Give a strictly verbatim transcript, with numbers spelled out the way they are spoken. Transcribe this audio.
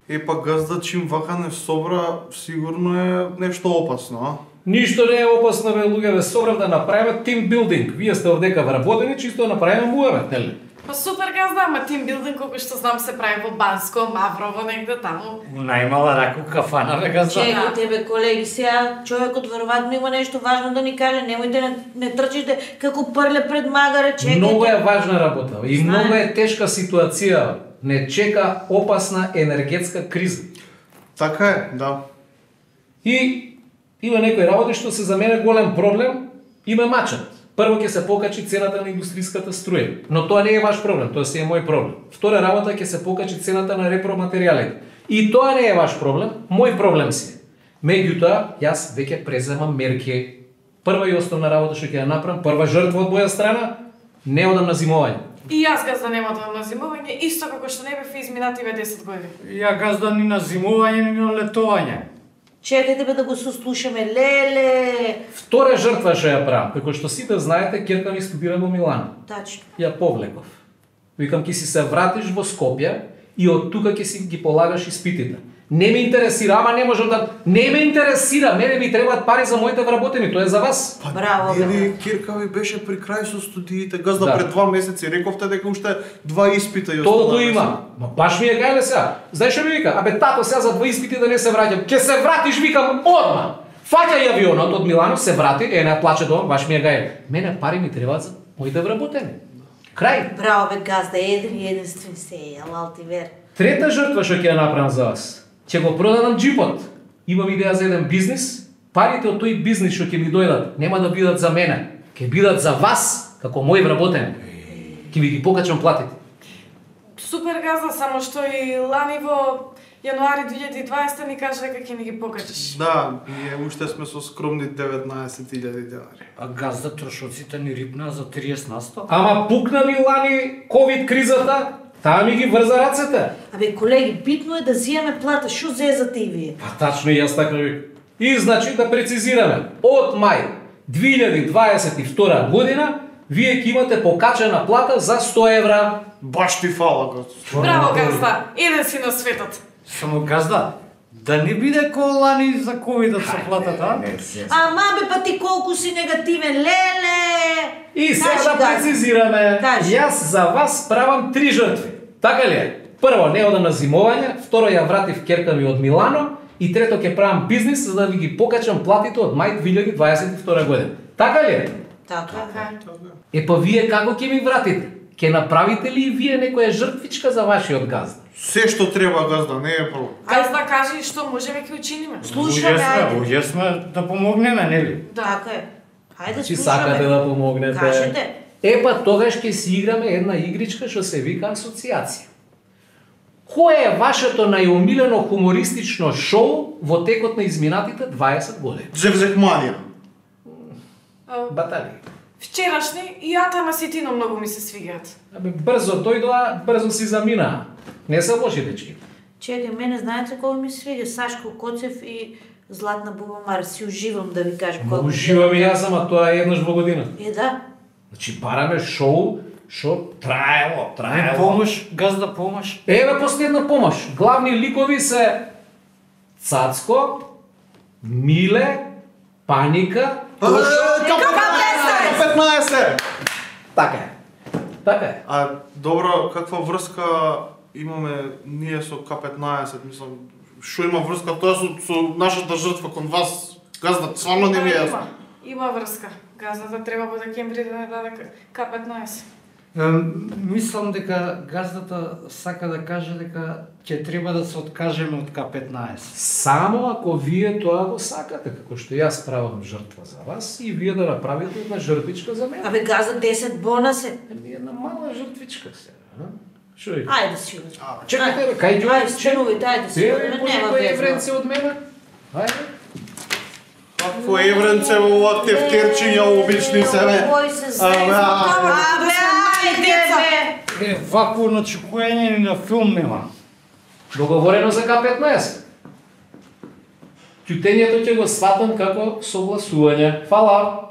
Е, па газда чим вака не собра, сигурно е нешто опасно, а? Ништо не е опасно, бе, луѓе, бе, собрав да направиме тим билдинг. Вие сте овдека вработени, чисто да направиме муавет, нели? Па супер газда, ама тим билдинг колку што знам се прави во Банско, Маврово, негде таму. Најмала раку кафана, бе, газда. Чекайте, бе, колеги, сега човекот веројатно има нешто важно да ни каже, немојте не, не трчите како прле пред магаре, чекайте. Многу е важна работа и многу е тешка ситуација. Не чека опасна енергетска криза. Така е, да. И има некои работи што се за мене голем проблем и ме мачат. Прво ќе се покачи цената на индустријската струја, но тоа не е ваш проблем, тоа си е мој проблем. Втора работа ќе се покачи цената на репроматеријалите. И тоа не е ваш проблем, мој проблем си е. Меѓутоа, јас веќе преземам мерки. Прва и основна работа што ќе ја направам, прва жртва од моја страна, не одам на зимовање. И јас газда нема да на зимување, исто како што не бев изминативе десет години. Ја газда ни на зимување, ни на летување. Чекайте, бе, да го сослушаме, леле. Втора жртва што ја правам, како што сите знаете, ќерка ми студира во Милано. Тачно. Ја повлеков. Викам, ќе си се вратиш во Скопје и од тука ќе си ги полагаш испитите. Не ме интересира, ама не можам да... Не ме интересира, мене ми требаат пари за моите вработени, тоа е за вас. Па, Браво, бе. Или Кирка ви беше при крај со студиите, газда Да. пред два месеци, рековте дека уште два испита и Толку останаа. има. Ма баш ми е гајле сега. Знаеш што ми вика? Абе тато сега за два испити да не се враќам. Ќе се вратиш, викам, одма. Фаќај авионот од Милано, се врати, е не плаче дома, баш ми е гајле. Мене пари ми требаат за моите вработени. Крај. Браво, бе, газда, еден и единствен се е, алал ти вер. Трета жртва што ќе ја направам за вас. Ќе го продадам джипот. Имам идеја за еден бизнис. Парите од тој бизнис што ќе ми дојдат нема да бидат за мене, ќе бидат за вас како мој вработени. Ќе ви ги покачам платите. Супер газда, само што и лани во јануари две илјади и дваесета ни кажа дека ќе ни ги покачаш. Да, ние уште сме со скромни деветнаесет илјади денари. А газда трошоците ни рипна за триесет на сто. Ама пукна ми лани ковид кризата, таа ми ги врза рацете. Абе, колеги, битно е да зиеме плата, шо зезате и вие? Па тачно и јас така ви. И значи да прецизираме, од мај две илјади дваесет и втора година вие ќе имате покачена плата за сто евра. Баш ти фала, газда. Браво газда, еден си на светот. Само газда, да не биде ко лани за ковидот со платата, а? Ама бе, па ти колку си негативен, леле! И сега Кажи, да газда. прецизираме, Кажи. јас за вас правам три жртви. Така ли е? Прво, не одам на зимовање, второ, ја вратив ќерка ми од Милано и трето, ќе правам бизнис за да ви ги покачам платите од мај две илјади дваесет и втора година. Така ли е? Така. Е, па вие како ќе ми вратите? Ќе направите ли и вие некоја жртвичка за вашиот газда? Се што треба, газда, не е проблем. Газда кажи што можеме ќе учиниме. Слушаме, Луѓе ајде. сме, луѓе сме да помогнеме, нели? Така е. Хајде, Чи слушаме. сакате да помогнете? Кажете. Е, па тогаш ќе си играме една игричка што се вика асоциација. Кое е вашето најомилено хумористично шоу во текот на изминатите дваесет години? Зевзекманија. А, Батали. Вчерашни и Атама Ситино многу ми се свигаат. Абе, брзо дојдоа, брзо си заминаа. Не се лоши дечки. Чекай, мене знаете кој ми свига? Сашко Коцев и Златна Бубамар. Си уживам да ви кажам Ма колку. уживам и јас, ама тоа е еднаш во година. Е, да. Значи, бараме шоу, шо траело, Не траело. помош, газда помош. Еве последна помош. Главни ликови се Цацко, Миле, Паника, петнаесет! така е. Така е. А добро, каква врска имаме ние со К петнаесет, мислам, што има врска тоа со, со нашата жртва кон вас? Газда, стварно не ми е Да, јасно. има, има врска. Газдата треба во декември да не даде К петнаесет. Ем, Мислам дека газдата сака да каже дека ќе треба да се откажеме од К петнаесет. Само ако вие тоа го сакате, како што јас правам жртва за вас и вие да направите една жртвичка за мене. Абе, газа десет бона се. Еми една мала жртвичка сега, а? Што е? Ајде да си одиш. Чекайте, бе, кај ќе Ајде, спенувајте, ајде си Е, одиш. по Нема некој веза. евренце од мене? Ајде. Какво евренце во ова тефтерчиња обични себе? Кој се Абе, зезе? абе. Абе, ајде, бе! Е, вакво начекување ни на филм нема. Договорено за К петнаесет. Ќутењето ќе го сватам како согласување. Фала.